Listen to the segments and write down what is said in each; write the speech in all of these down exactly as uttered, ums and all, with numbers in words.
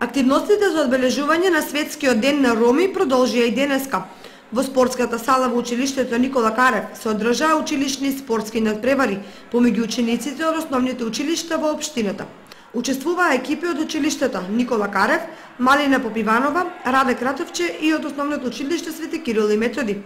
Активностите за одбележување на Светскиот ден на роми продолжија и денеска. Во спортската сала во училиштето Никола Карев се одржаа училишни спортски надпревари помеѓу учениците од основните училишта во општината. Учествуваа екипи од училиштето Никола Карев, Малина Попиванова, Раде Кратовче и од основното училиште Свети Кирил и Методи.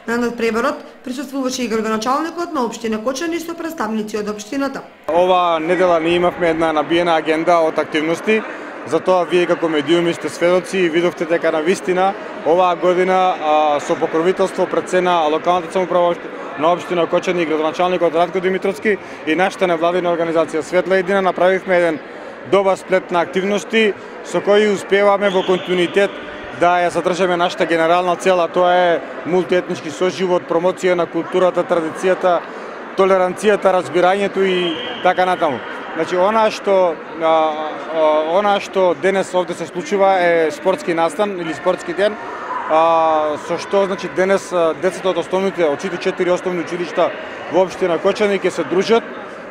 На надпреварот присуствуваше и градоначалникот на општина Кочани со представници од општината. Ова недела ние имавме една набиена агенда од активности. Затоа вие како медиуми сте сведоци и видовте дека на вистина оваа година а, со покровителство пред се на локалната самоуправа на општина Кочани и градоначалникот Радко Димитровски и нашата невладина организација Светла Едина направивме еден добар сплет на активности со кои успеваме во континуитет да ја задржаме нашата генерална цел, а тоа е мултиетнички соживот, промоција на културата, традицијата, толеранцијата, разбирањето и така натаму. Значи, она што а, а, она што денес овде се случува е спортски настан или спортски ден, а, со што значи денес децата од основните од сите четири основни училишта во општина Кочани ќе се дружат,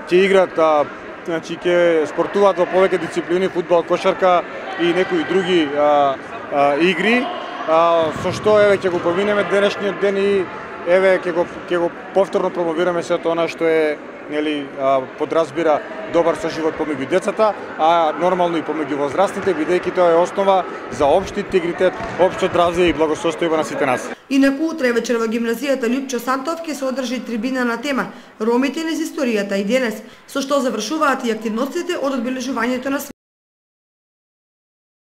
ќе играат, а, значи ќе спортуваат во повеќе дисциплини, фудбал, кошарка и некои други а, а, игри, а, со што еве ќе го поминеме денешниот ден и еве ќе го ќе го повторно промовираме сето она што е нели подразбира добар соживот помеѓу децата, а нормално и помеѓу возрастните, бидејќи тоа е основа за општи интегритет, општо здравје и благосостојба на сите нас. Инаку утре вечер во гимназијата Лјупчо Сантов ќе се одржи трибина на тема Ромите низ историјата и денес, со што завршуваат и активностите од одбележувањето на